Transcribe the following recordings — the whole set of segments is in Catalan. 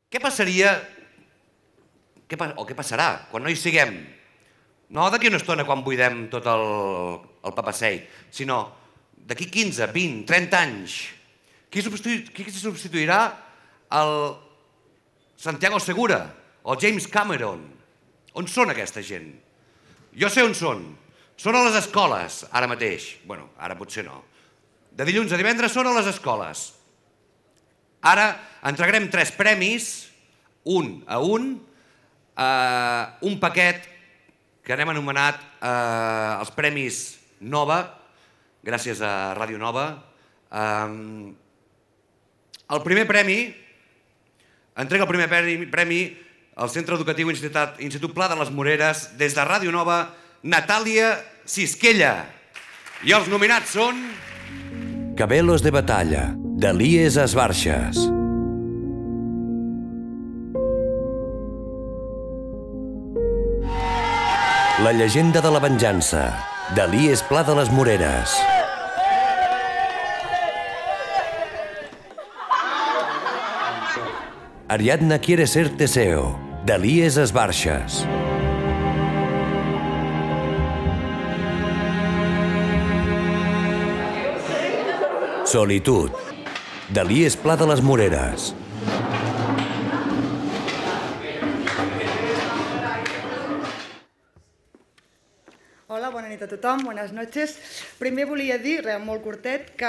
Què passaria, o què passarà, quan no hi siguem? No d'aquí una estona quan buidem tot el papasseit, sinó d'aquí 15, 20, 30 anys. Qui substituirà el Santiago Segura o el James Cameron? On són aquesta gent? Jo sé on són. Són a les escoles, ara mateix. Bé, ara potser no. De dilluns a divendres són a les escoles. Ara entregarem 3 premis, un a un paquet que n'hem anomenat els Premis Nova, gràcies a Ràdio Nova. El primer premi, entrega el primer premi al Centre Educatiu Institut Pla de les Moreres, des de Ràdio Nova, Natàlia Sisquella. I els nominats són... Cabelos de batalla, d'Elies Esbarxes. La llegenda de la venjança, d'Elies Pla de les Moreres. Ariadna quiere ser Teseo, d'Elies Esbarxes. Solitud, d'Elies Pla de les Moreres. Hola, bona nit a tothom, bones noches. Primer volia dir, molt curtet, que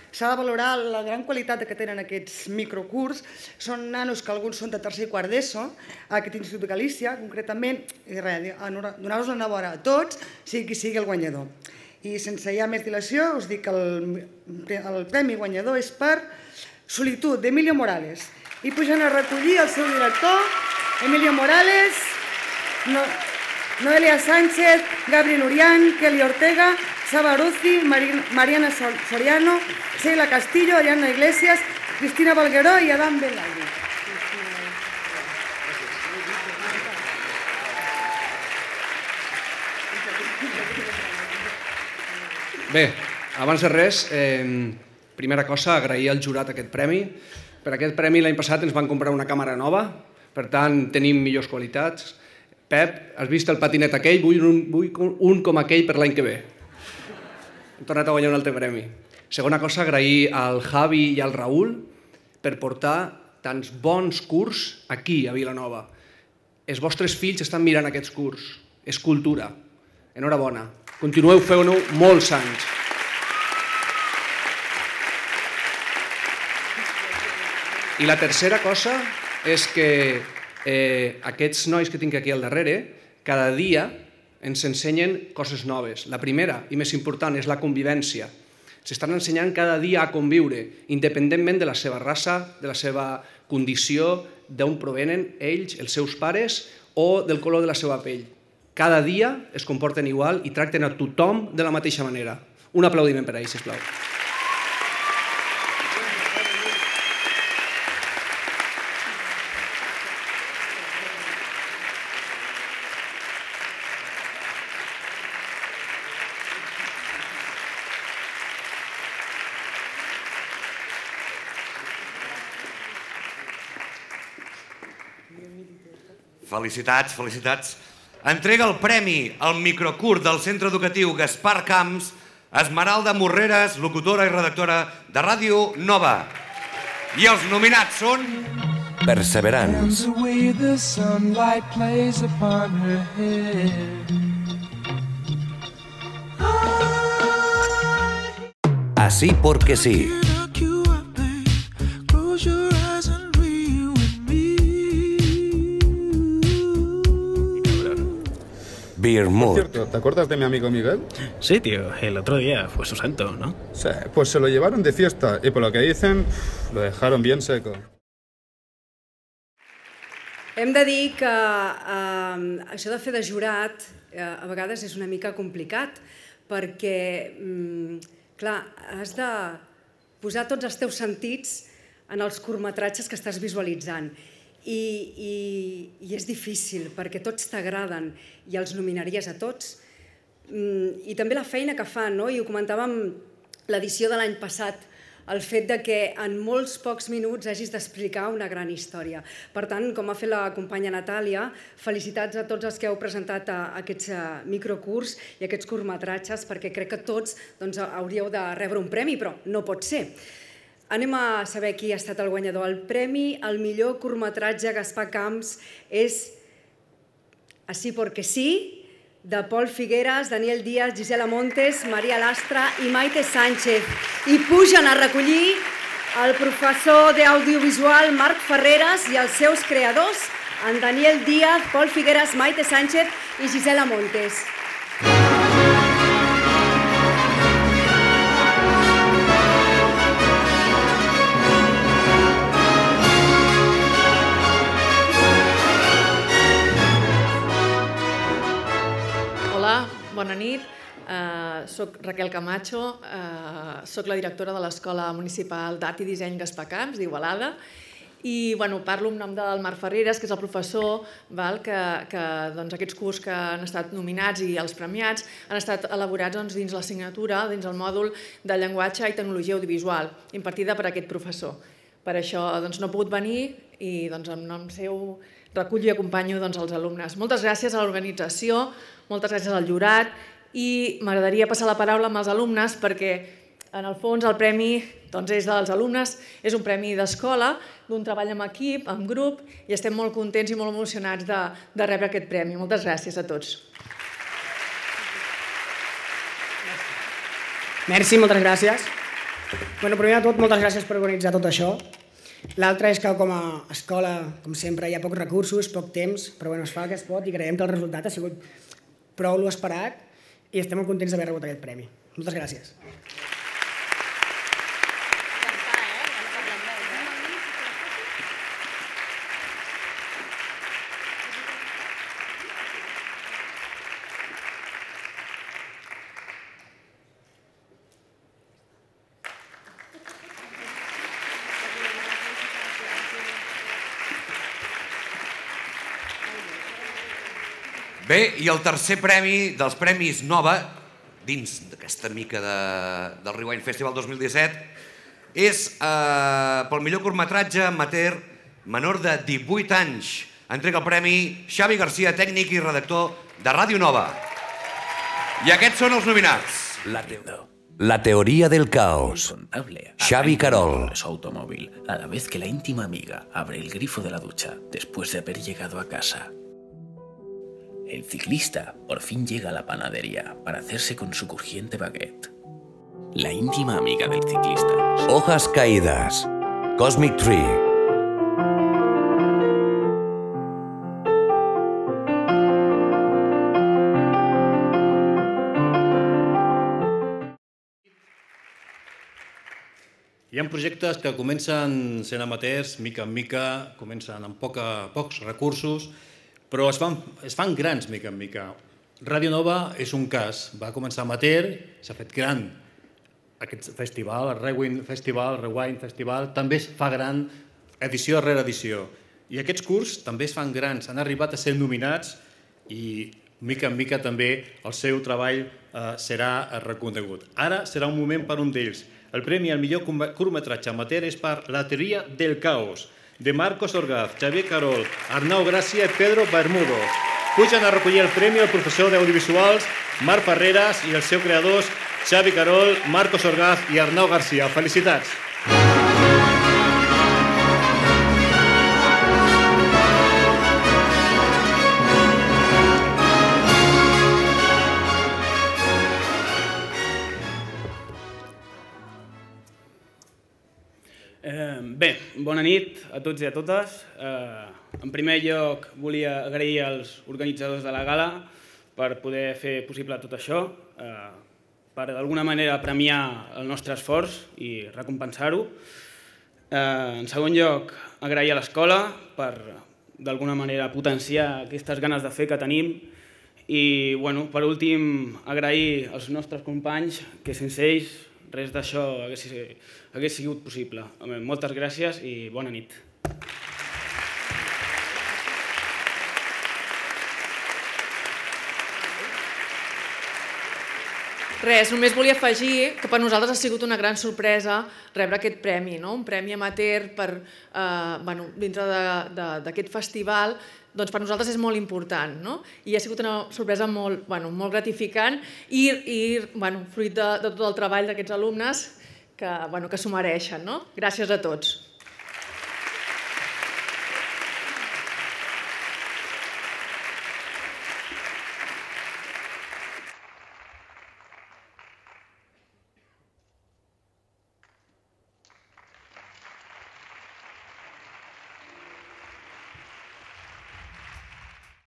s'ha de valorar la gran qualitat que tenen aquests microcurs. Són nanos que alguns són de tercer i quart d'ESO, a aquest Institut de Galícia, concretament, i res, donar-vos l'enhorabona a tots, sigui qui sigui el guanyador. I sense ja més dilació, us dic que el premi guanyador és per Solitud, d'Emilio Morales. I pugen a recollir el seu director, Emilio Morales, Noelia Sánchez, Gabriel Urián, Kelly Ortega, Saba Aruzzi, Mariana Soriano, Sheila Castillo, Ariadna Iglesias, Cristina Valgueró i Adam Belaire. Bé, abans de res, primera cosa, agrair al jurat aquest premi. Per aquest premi l'any passat ens van comprar una càmera nova, per tant tenim millors qualitats. Pep, has vist el patinet aquell? Vull un com aquell per l'any que ve. Hem tornat a guanyar un altre premi. Segona cosa, agrair al Javi i al Raül per portar tants bons curs aquí, a Vilanova. Els vostres fills estan mirant aquests curs. És cultura. Enhorabona. Continueu fent-ho molts anys. I la tercera cosa és que aquests nois que tinc aquí al darrere, cada dia ens ensenyen coses noves. La primera i més important és la convivència. S'estan ensenyant cada dia a conviure, independentment de la seva raça, de la seva condició, d'on provenen ells, els seus pares, o del color de la seva pell. Cada dia es comporten igual i tracten a tothom de la mateixa manera. Un aplaudiment per a ells, sisplau. Felicitats, felicitats. Entrega el premi al microcurs del Centre Educatiu Gaspar Camps, Esmeralda Morreres, locutora i redactora de Ràdio Nova. I els nominats són... Perseverants. Así porque sí. Beer Mood. Por cierto, ¿te acuerdas de mi amigo Miguel? Sí, tío, el otro día fue su santo, ¿no? Sí, pues se lo llevaron de fiesta y por lo que dicen, lo dejaron bien seco. Hem de dir que això de fer de jurat a vegades és una mica complicat perquè, clar, has de posar tots els teus sentits en els curtmetratges que estàs visualitzant. I és difícil perquè tots t'agraden i els nominaries a tots. I també la feina que fan, no? I ho comentàvem l'edició de l'any passat el fet de que en molts pocs minuts hagis d'explicar una gran història. Per tant, com ha fet la companya Natàlia, felicitats a tots els que heu presentat aquests microcurs i aquests curtmetratges, perquè crec que tots hauríeu de rebre un premi, però no pot ser. Anem a saber qui ha estat el guanyador. El premi al millor curtmetratge Gaspar Camps és Así porque sí, de Pol Figueras, Daniel Díaz, Gisela Montes, Maria Lastra i Maite Sánchez. I pugen a recollir el professor d'audiovisual Marc Ferreras i els seus creadors, en Daniel Díaz, Pol Figueras, Maite Sánchez i Gisela Montes. Bona nit, soc Raquel Camacho, soc la directora de l'Escola Municipal d'Art i Disseny Gaspar Camps d'Igualada i parlo en nom del Marc Ferreras, que és el professor que aquests curs que han estat nominats i els premiats han estat elaborats dins l'assignatura, dins el mòdul de llenguatge i tecnologia audiovisual, impartida per aquest professor. Per això no he pogut venir i en nom seu recullo i acompanyo els alumnes. Moltes gràcies a l'organització, moltes gràcies al jurat i m'agradaria passar la paraula amb els alumnes perquè en el fons el premi és dels alumnes, és un premi d'escola, d'un treball en equip, en grup i estem molt contents i molt emocionats de rebre aquest premi. Moltes gràcies a tots. Merci, moltes gràcies. Primer de tot, moltes gràcies per organitzar tot això. L'altre és que com a escola, com sempre, hi ha pocs recursos, poc temps, però es fa el que es pot i creiem que el resultat ha sigut prou l'esperat i estem molt contents d'haver rebut aquest premi. Moltes gràcies. Bé, i el tercer premi dels Premis Nova, dins d'aquesta mica del Rewind Festival 2017, és pel millor curtmetratge amateur menor de 18 anys. Entrega el premi Xavi García, tècnic i redactor de Ràdio Nova. I aquests són els nominats. La teoría del caos. Xavi Carol. Su automóvil, a la vez que la íntima amiga abre el grifo de la ducha después de haber llegado a casa. El ciclista por fin llega a la panadería para hacerse con su crujiente baguette. La íntima amiga del ciclista. Hojas caídas. Cosmic Tree. Hi ha projectes que comencen sent amateurs, mica en mica, comencen amb pocs recursos, però es fan grans mica en mica. Ràdio Nova és un cas. Va començar amateur, s'ha fet gran. Aquest festival, el Rewind Festival, també es fa gran edició rere edició. I aquests curs també es fan grans, han arribat a ser nominats i mica en mica també el seu treball serà reconegut. Ara serà un moment per un d'ells. El premi al millor curtmetratge amateur és per La teoria del caos, de Marcos Orgaz, Xavier Carol, Arnau Gràcia i Pedro Bermudo. Pugen a recollir el premi el professor d'audiovisuals Marc Ferreras i els seus creadors Xavi Carol, Marcos Orgaz i Arnau Garcia. Felicitats! Bé, bona nit a tots i a totes. En primer lloc volia agrair als organitzadors de la gala per poder fer possible tot això, per d'alguna manera premiar el nostre esforç i recompensar-ho. En segon lloc, agrair a l'escola per d'alguna manera potenciar aquestes ganes de fer que tenim i, per últim, agrair als nostres companys que sense ells res d'això hagués sigut possible. Moltes gràcies i bona nit. Res, només volia afegir que per nosaltres ha sigut una gran sorpresa rebre aquest premi, un premi amateur dintre d'aquest festival, doncs per nosaltres és molt important, i ha sigut una sorpresa molt gratificant i fruit de tot el treball d'aquests alumnes que s'ho mereixen. Gràcies a tots.